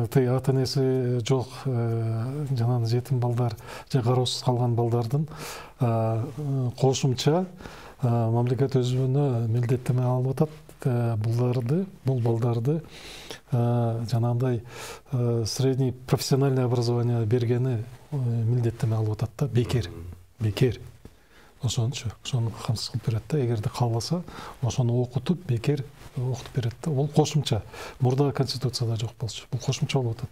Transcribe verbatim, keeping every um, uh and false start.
тый ата энеси жок жанагы жетим балдар же кароосуз калган балдардын кошумча мамлекет өзүнө милдеттеме алып атат. Булдарды, бул балдарды жанагындай средний профессиональный образование бергени милдеттеме алып атат да, бекер, бекер. Ошончу, ошону камсыз кылып берет да, эгерде калбаса, ошону окутуп, бекер окутуп берет да. Бул кошумча. Мурда Конституцияда жок болчу. Бул кошумча болуп атат.